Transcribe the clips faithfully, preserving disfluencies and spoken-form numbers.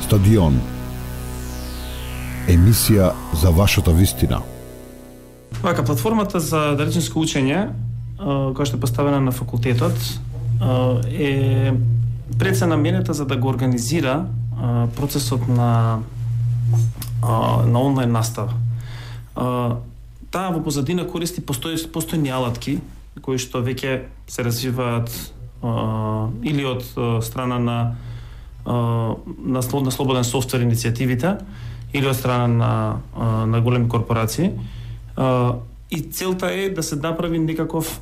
Стадион. Емисија за вашата вистина. Вака, платформата за далечинско учење, која што е поставена на факултетот, е пред се наменета за да го организира процесот на на онлайн настава. Таа во позадина користи постои постојни алатки кои што веќе се развиваат или од страна на на слободен софтвер иницијативите или од страна на на големи корпорации. И целта е да се направи некаков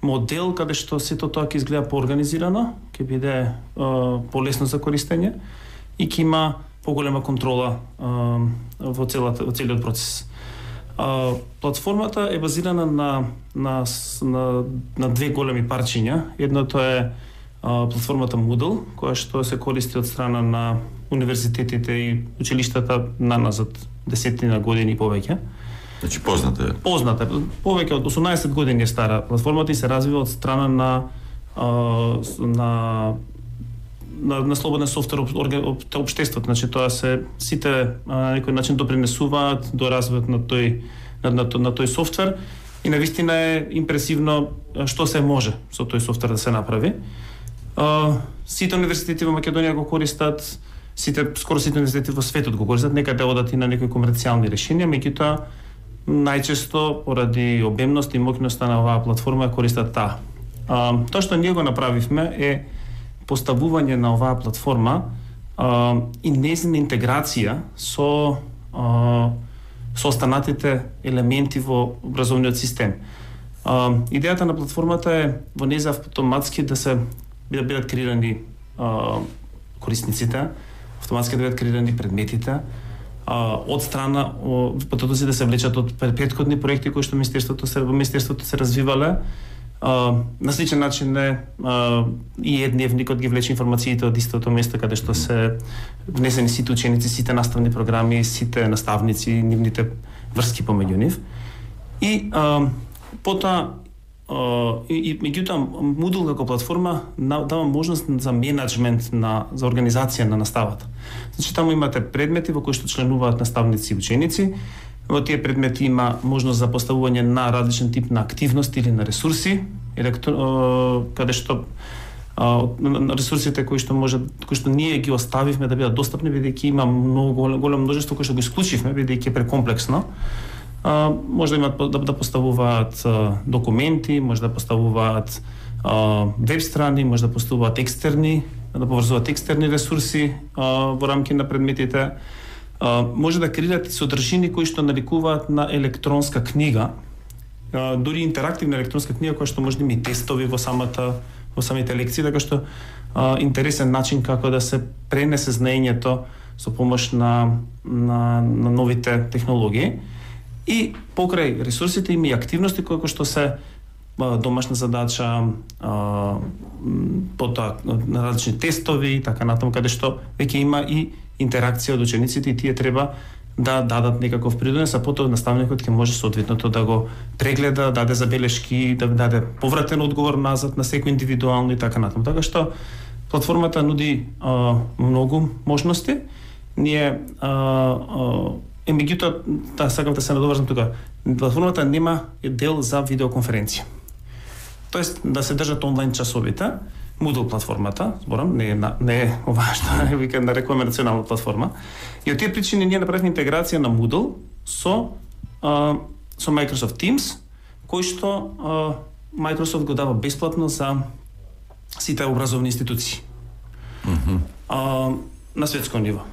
модел каде што сето тоа ќе изгледа поорганизирано, ќе биде полесно за користење и ќе има поголема контрола во целата во целиот процес. Платформата е базирана на на на, на две големи парчиња. Едното е платформата Moodle, која што се користи од страна на универзитетите и училиштата на назад десетина години и повеќе. Значи позната е. Позната е. Повеќе од осумнаесет години е стара платформата и се развива од страна на на на, на слободен софтвер општеството. Значи тоа се сите на некој начин допринесуваат до развојот на тој на, на, на тој софтвер и навистина е импресивно што се може со тој софтвер да се направи. Uh, сите универзитети во Македонија го користат, сите скоро сите универзитети во светот го користат, некаде одат и на некои комерцијални решенија, меѓутоа најчесто поради обемност и моќноста на оваа платформа ја користат таа. Uh, тоа што ние го направивме е поставување на оваа платформа uh, и нејзина интеграција со uh, со останатите елементи во образовниот систем. Uh, идејата на платформата е во нејза автоматски да се да бидат креирани а, корисниците, автоматски да бидат креирани предметите, а, од страна потоци да се влечат од претходни проекти кои што министерството се во министерството се развивале. А, на сличен начин е а, и едневникот ги влече информациите од истото место каде што се внесени сите ученици, сите наставни програми, сите наставници, нивните врски помеѓу нив. И а, потоа Uh, и, и меѓутоа Moodle како платформа дава можност за менеджмент на за организација на наставата. Значи таму имате предмети во кои што членуваат наставници и ученици. Во тие предмети има можност за поставување на различен тип на активности или на ресурси, електро, uh, каде што uh, на ресурсите кои што може кои што ние ги оставивме да бидат достапни бидејќи има многу големо множество кои што го исклучивме бидејќи е прекомплексно. Uh, може да имат да, да поставуваат uh, документи, може да поставуваат uh, веб страни, може да поставуваат екстерни, да поврзуваат екстерни ресурси uh, во рамки на предметите. Uh, може да креираат и содржини кои што навикуваат на електронска книга, uh, дури интерактивна електронска книга која што може да има и тестови во самата во самите лекции, така што uh, интересен начин како да се пренесе знаењето со помош на на, на новите технологии. И покрај ресурсите има и активности кои што се домашна задача, потоа на различни тестови и така натаму, каде што веќе има и интеракција од учениците и тие треба да дадат некаков придонес, а потоа наставникот ќе може соодветното да го прегледа, даде забелешки, да даде повратен одговор назад на секој индивидуално и така натаму. Така што платформата нуди а, многу можности. Ние а, а, Е, меѓутоа, да, сакам да се надоврзам тука. Платформата нема дел за видеоконференција. Тоест, да се држат онлайн часовите, Moodle платформата, зборам, не е, не е ова што вика нарекуваме национална платформа. И од тие причини ние направивме интеграција на Moodle со, а, со Microsoft Teams, кој што а, Microsoft го дава бесплатно за сите образовни институции. Mm-hmm. а, на светско ниво.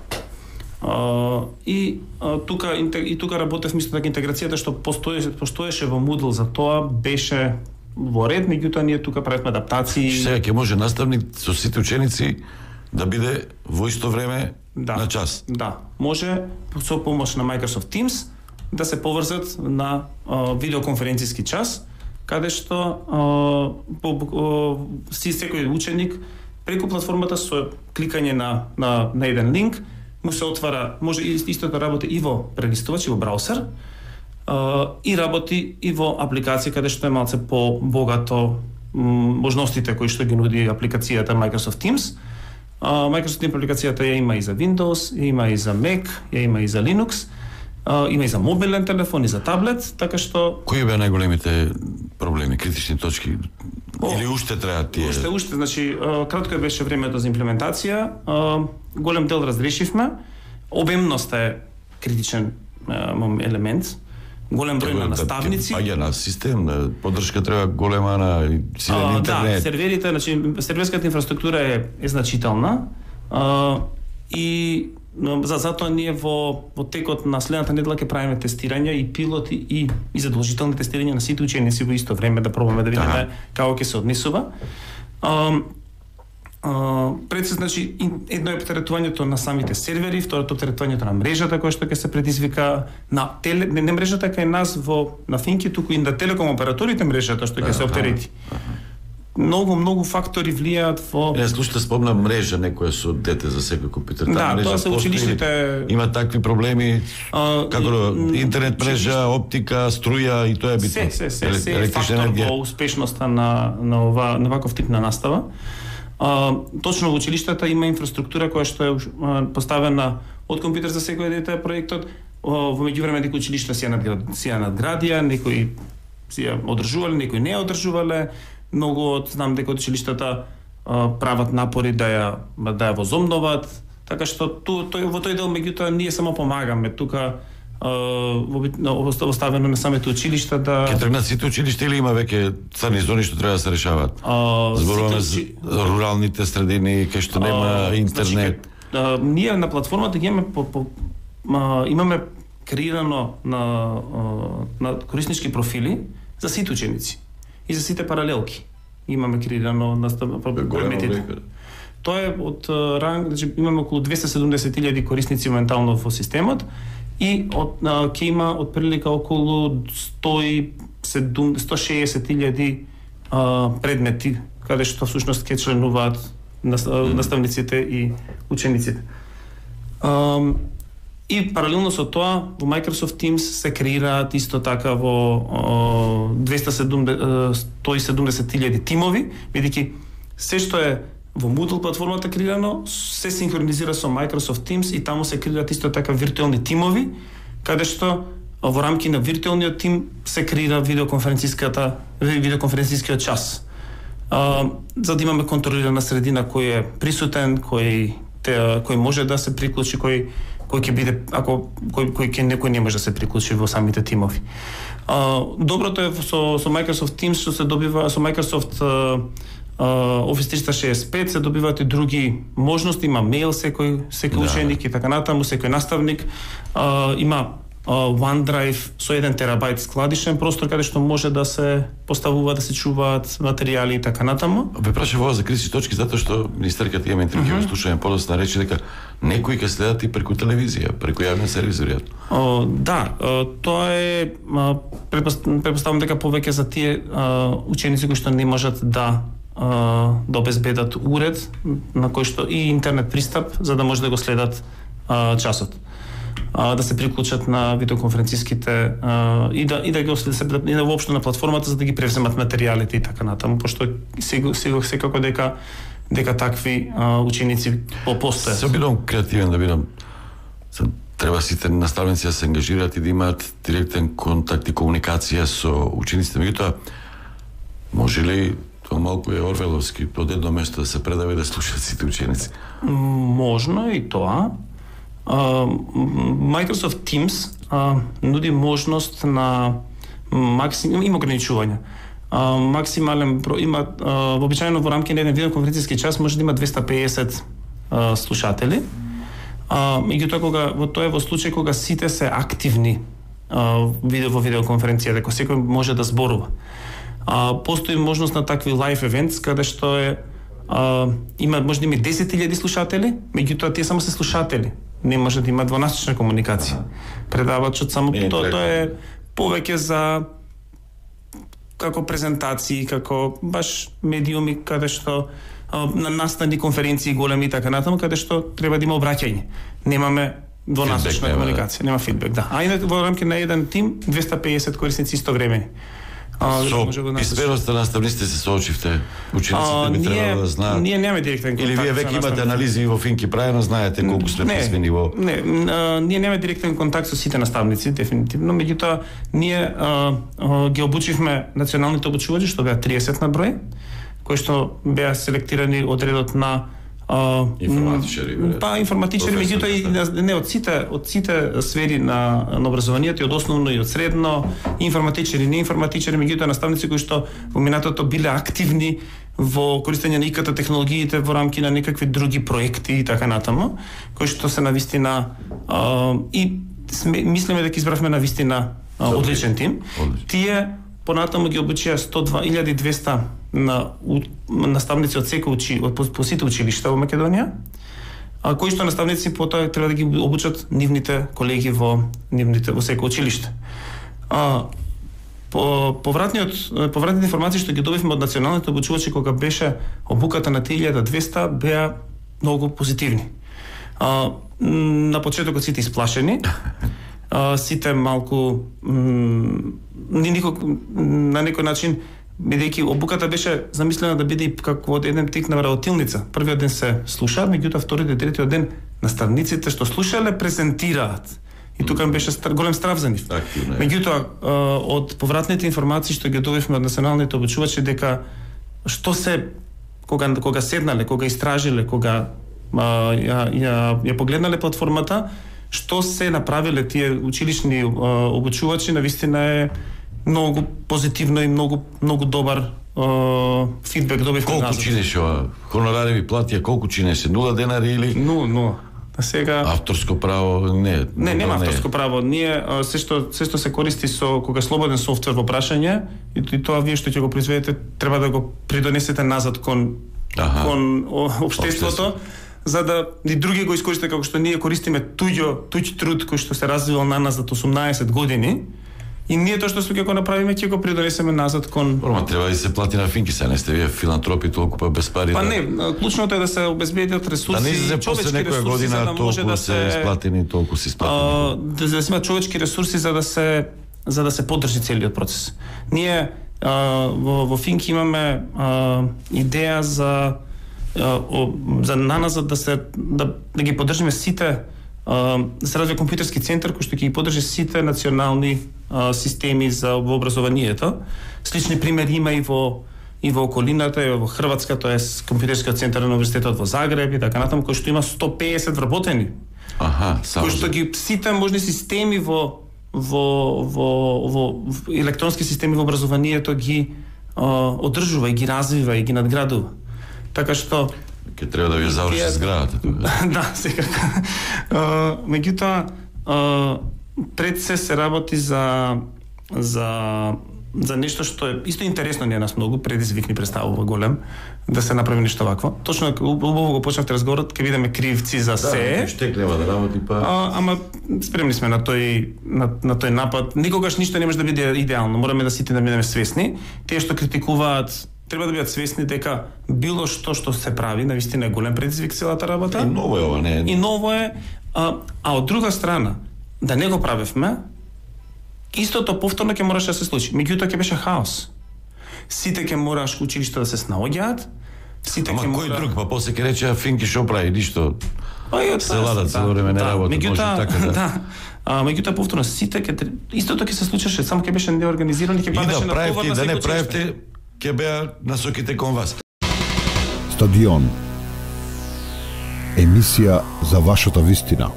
Uh, и uh, тука и тука работев мислам дека интеграцијата што постоеше постоеше во Moodle за тоа беше во ред, меѓутоа ние тука правевме адаптации. Сега ќе може наставник со сите ученици да биде во исто време да, на час. Да, може со помош на Microsoft Teams да се поврзат на uh, видеоконференциски час, каде што uh, по, uh, си секој ученик преку платформата со кликање на на на еден линк му се отвара, може исто да работи и во прелистувач и во браузер, uh, и работи и во апликација каде што е малце по богато можностите кои што ги нуди апликацијата Microsoft Teams, А, Microsoft Teams апликацијата ја има и за Windows, ја има и за Mac, ја има и за Linux, а, има и за мобилен телефон и за таблет, така што кои беа најголемите проблеми, критични точки? О, или уште треба тие? Уште, уште, значи кратко беше времето за имплементација, а, голем дел разрешивме, обемноста е критичен а, елемент. Голем број на наставници. Паѓа на систем, на поддршка треба голема на силен а, интернет. Да, серверите, значи серверската инфраструктура е, е значителна. А, и за затоа ние во во текот на следната недела ќе правиме тестирања и пилоти и и задолжителни тестирања на сите ученици во исто време да пробаме да видиме да. како ќе се однесува. А, Uh, пред се, значи, едно е оптеретувањето на самите сервери, второто оптеретувањето на мрежата која што ќе се предизвика на теле, не, не мрежата кај нас во на Финки, туку и на телеком операторите мрежата што ќе се оптерети. Многу, многу фактори влијаат во... Не, слушате, спомна мрежа некоја со дете за секој компјутер. Да, мрежа тоа се училиштите... Има такви проблеми, uh, како и, интернет мрежа, оптика, струја и тоа е битно. Се, се, се, се е фактор во успешноста на, на, ова, на ваков тип на настава. Uh, точно во училиштата има инфраструктура која што е uh, поставена од компјутер за секој дете проектот. Uh, во меѓувреме некои училишта си ја надград, си ја надградија, некои си ја одржувале, некои не одржувале. Многу од знам дека од училиштата uh, прават напори да ја да ја возомнуваат, така што ту, тој во тој дел меѓутоа ние само помагаме тука. Uh, оставено на самите училишта да... Ке тргнат сите училишта или има веќе црни зони што треба да се решаваат? Uh, Зборуваме за учи... руралните средини, кај што нема uh, интернет. Значи, uh, ние на платформата ги имаме по, по, uh, имаме креирано на, uh, на кориснички профили за сите ученици и за сите паралелки. Имаме креирано на големите. Тоа е од uh, ранг, значи имаме околу двесте и седумдесет илјади корисници моментално во системот. И од ќе има од прилика околу сто и шеесет илјади предмети каде што всушност ќе членуваат наставниците и учениците. А, и паралелно со тоа во Microsoft Teams се креираат исто така во сто и седумдесет илјади тимови, бидејќи се што е во Moodle платформата креирано се синхронизира со Microsoft Teams и таму се креираат исто така виртуелни тимови, каде што во рамки на виртуелниот тим се креира видеоконференциската видеоконференцискиот час. А, за да имаме контролирана средина кој е присутен, кој те, кој може да се приклучи, кој кој ќе биде ако кој кој ќе некој не може да се приклучи во самите тимови. А, доброто е со со Microsoft Teams што се добива со Microsoft а, Uh, Office триста шеесет и пет се добиваат и други можности, има мејл секој секој да. Ученик и така натаму, секој наставник, uh, има uh, OneDrive со еден терабајт складишен простор каде што може да се поставува, да се чуваат материјали и така натаму. Ве прашав ова за критични точки затоа што министерката има интервју, uh -huh. слушање подоцна рече дека некои ќе следат и преку телевизија, преку јавни сервизори. Uh, да, uh, тоа е uh, предпоставам дека повеќе за тие uh, ученици кои што не можат да да обезбедат уред на кој што и интернет пристап за да може да го следат а, часот. А, да се приклучат на видеоконференциските а, и да и да ги следат и да воопшто на платформата за да ги превземат материјалите и така натаму, пошто сега сега секако дека дека такви а, ученици постојат. Се обидам креативен да бидам. Треба сите наставници да се ангажираат и да имаат директен контакт и комуникација со учениците. Меѓутоа, може ли тоа малку е орвеловски, од едно место да се предава и да слушаат сите ученици? Можно и тоа. Uh, Microsoft Teams uh, нуди можност на максимум, има ограничувања. Uh, максимален број има uh, вообичаено во рамки на еден видеоконференциски час може да има двесте и педесет uh, слушатели. Uh, меѓутоа кога во тоа е во случај кога сите се активни uh, видео во видеоконференција, дека секој може да зборува. Uh, постои можност на такви лайв евентс каде што е uh, има може да има десет илјади слушатели, меѓутоа тие само се слушатели. Не може да има двонасочна комуникација. Предавачот само тоа тоа е повеќе за како презентации, како баш медиуми каде што uh, на настани конференции големи и така натаму каде што треба да има обраќање. Немаме двонасочна комуникација, нема фидбек, да. А инак во рамки на еден тим двесте и педесет корисници истовремени. А, Со може да писменоста на наставниците се соочивте. Учениците би требало да знаат. Ние немаме директен контакт. Или вие веќе имате анализи во Финки правено, знаете колку сме писмени во. Не, а, ние немаме директен контакт со сите наставници, дефинитивно, меѓутоа ние а, а, ги обучивме националните обучувачи, што беа триесет на број, кои што беа селектирани од редот на Uh, информатичари, па информатичари, меѓутоа и не од сите од сите сфери на на образованието, и од основно и од средно, информатичари, не информатичари, меѓутоа наставници кои што во минатото биле активни во користење на ИКТ технологиите во рамки на некакви други проекти и така натаму, кои што се навистина uh, и сме, мислиме дека избравме навистина uh, одличен тим. Одличен. Тие понатаму ги обучија сто два илјади и двесте на у, наставници од секој учи од по, по сите училишта во Македонија, а кои што наставници потоа треба да ги обучат нивните колеги во нивните во секој училиште. А по повратниот повратните информации што ги добивме од националните обучувачи кога беше обуката на три илјади и двесте беа многу позитивни. А, на почетокот сите исплашени, а, сите малку ни никак на некој начин, бидејќи обуката беше замислена да биде како од еден тип на вработилница. Првиот ден се слушаат, меѓутоа вториот и третиот ден наставниците што слушале презентираат. И тука беше стар, голем страв за нив. Меѓутоа од повратните информации што ги добивме од националните обучувачи дека што се кога кога седнале, кога истражиле, кога а, ја, ја, ја погледнале платформата, што се направиле тие училишни а, обучувачи, навистина е многу позитивно и многу многу добар uh, фидбек добивме назад. Колку чинеше ова? Хонорари ви платија колку чинеше? нула денари или? нула, нула. А сега авторско право не. Не, нема не. авторско право. Ние се што се што се користи со кога слободен софтвер во прашање и, и тоа вие што ќе го произведете треба да го придонесете назад кон Аха. кон општеството, за да и други го искористат како што ние користиме туѓо туѓ труд кој што се развивал на нас за осумнаесет години. И ние тоа што ќе го направиме, ќе го придонесеме назад кон. Порма треба да се плати на Финки, се не сте вие филантропи толку па без пари. Па да... не, клучното е да се обезбедат ресурси, да не се после некоја година да толку да се исплатени, толку се исплатени. Да, да се има човечки ресурси за да се за да се поддржи целиот процес. Ние а, во, во Финки имаме а, идеја за а, о, за наназад да се да, да ги поддржиме сите, да се развие компјутерски центар кој што ќе ги поддржи сите национални а, системи за во образованието. Слични примери има и во и во околината, и во Хрватска, тоа е компјутерскиот центар на универзитетот во Загреб и така натаму, кој што има сто пеесет вработени. Аха, кој што ги сите можни системи во во во во електронски системи во образованието ги а, одржува и ги развива и ги надградува. Така што ќе треба да ви заврши зградата тука. Да, секако. Меѓутоа, пред се се работи за за за нешто што е исто интересно, не нас многу предизвик ни представува голем да се направи нешто вакво. Точно убаво го почнавте разговорот, ќе видиме кривци за се. Да, штек нема да работи па. А, ама спремни сме на тој на, на тој напад. Никогаш ништо не може да биде идеално. Мораме да сите да бидеме свесни. Тие што критикуваат треба да бидат свесни дека било што што се прави, навистина е голем предизвик целата работа. И ново е ова, не е. И ново е, а, а од друга страна, да не го правевме, истото повторно ќе мораше да се случи. Меѓутоа ќе беше хаос. Сите ќе мораш училишта да се снаоѓаат, сите ќе мора... кој друг, па после ќе рече Финки шо прави, ништо. Се ладат цело време не работат, може така да. Да. А меѓутоа повторно сите ќе истото ќе се случеше, само ќе беше неорганизирано и ќе падеше на товар на секој. Да не правите, ќе беа насоките кон вас. Стадион. Емисија за вашата вистина.